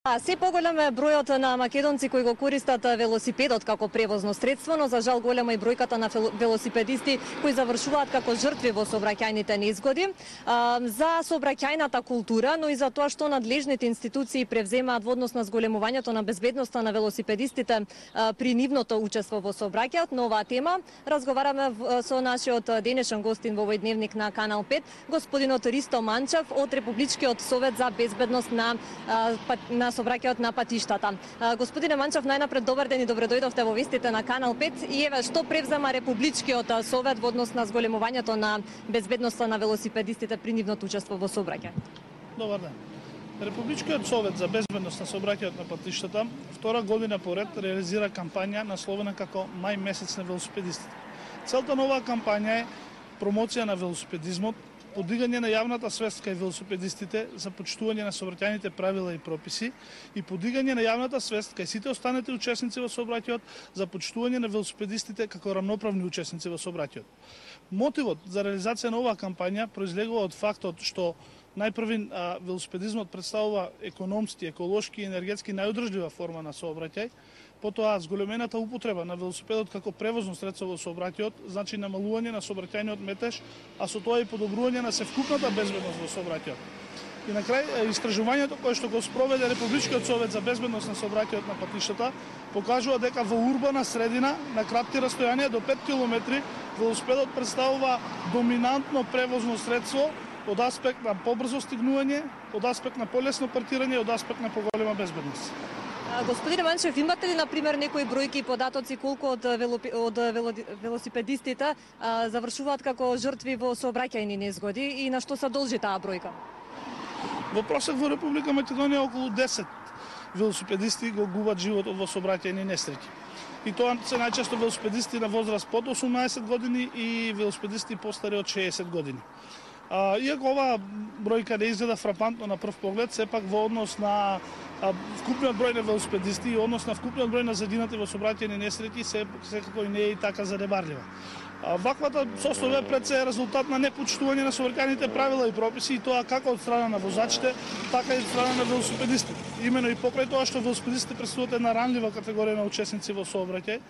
Се поголем е бројот на македонци кои го користат велосипедот како превозно средство, но за жал голема и бројката на велосипедисти кои завршуваат како жртви во сообраќајните незгоди. За сообраќајната култура, но и за тоа што надлежните институции превземаат во однос на зголемувањето на безбедноста на велосипедистите при нивното учество во сообраќајот. На оваа тема разговараме со нашиот денешен гостин во овој дневник на Канал 5, господинот Ристо Манчев од Републичкиот совет за безбедност на сообраќајот на патиштата. Господине Манчев, најнапред добар ден и добре дојдовте во вестите на Канал 5. И еве што превзема Републичкиот совет во однос на зголемувањето на безбедноста на велосипедистите при нивното учество во сообраќај. Добар ден. Републичкиот совет за безбедност на сообраќајот на патиштата втора година поред реализира кампања насловена како Мај месец на велосипедистите. Целта на оваа кампања е промоција на велосипедизмот, подигање на јавната свест кај велосипедистите за почитување на сообраќајните правила и прописи и подигање на јавната свест кај сите останати учесници во сообраќајот за почитување на велосипедистите како рамноправни учесници во сообраќајот. Мотивот за реализација на оваа кампања произлегува од фактот што најпрви велосипедизмот представува економски, еколошки и енергетски најодржлива форма на сообраќај. Потоа зголемената употреба на велосипедот како превозно средство во сообраќајот значи намалување на сообраќајниот метеж, а со тоа и подобрување на севкупната безбедност во сообраќајот. И на крај, истражувањето кое што го спроведе Републичкиот совет за безбедност на сообраќајот на патиштата покажува дека во урбана средина на кратки растојанија до 5 км велосипедот представува доминантно превозно средство од аспект на побрзо стигнување, од аспект на полесно паркирање и од аспект на поголема безбедност. Господине Манчев, имате ли, например, некои бројки и податоци колку од велосипедистите завршуваат како жртви во сообраќајни незгоди и на што се должи таа бројка? Во просек во Република Македонија околу 10 велосипедисти го губат животот во сообраќајни несреќи. И тоа се најчесто велосипедисти на возраст под 18 години и велосипедисти постари од 60 години. Иако оваа бројка не изгледа фрапантно на прв поглед, сепак во однос на вкупниот број на велосипедисти и однос на вкупниот број на загинати во сообраќајни несреќи секако и не е и така занемарлива. Ваквата состојба е пред се резултат на непочитување на сообраќајните правила и прописи, и тоа како од страна на возачите, така и од страна на велосипедистите. Имено и покрај тоа што велосипедистите представуваат една ранлива категорија на учесници во сообраќај,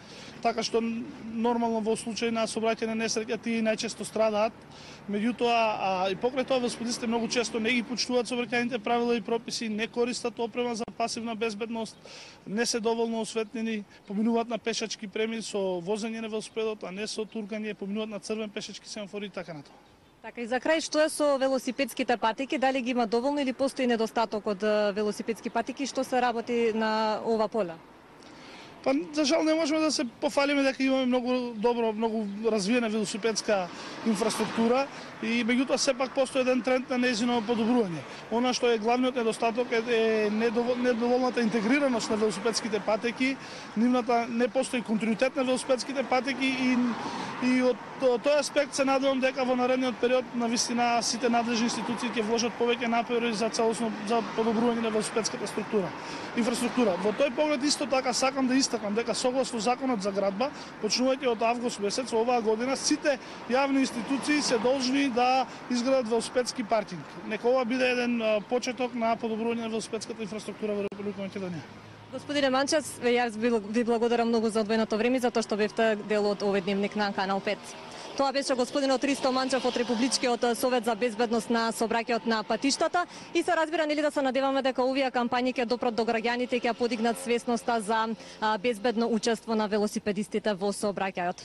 така што нормално во случај на сообраќајна несреќа тие најчесто страдаат. Меѓутоа, и покрај тоа велосипедистите многу често не ги почитуваат сообраќајните правила и прописи, не користат опрема за пасивна безбедност, не се доволно осветлени, поминуваат на пешачки премин со возење на велосипедот, а не со туркање, поминуваат на црвен пешачки семафор и така натаму. Така, и за крај, што е со велосипедските патики? Дали ги има доволно или постои недостаток од велосипедски патики? Што се работи на ова поле? Па, за жал не можеме да се пофалиме дека имаме многу развиена велосипедска инфраструктура и меѓутоа сепак постои еден тренд на нејзино подобрување. Она што е главниот недостаток е недоволната интегрираност на велосипедските патеки, нивната не постои континуитет на велосипедските патеки и од тој аспект се надевам дека во наредниот период навистина сите надлежни институции ќе вложат повеќе напори за целосно за подобрување на велосипедската инфраструктура. Во тој поглед исто така сакам да истакнам дека согласно законот за градба, почнувајќи од август месец оваа година, сите јавни институции се должни да изградат велосипедски паркинг. Нека ова биде еден почеток на подобрување на велосипедската инфраструктура во Република Македонија. Господине Манчев, јас ви благодарам многу за одвоеното време и за тоа што бевте дел од овој дневник на Канал 5. Тоа беше господинот Ристо Манчев од Републичкиот совет за безбедност на сообраќајот на патиштата и се разбира нели да се надеваме дека овие кампањи ќе допрат до граѓаните и ќе подигнат свесноста за безбедно учество на велосипедистите во сообраќајот.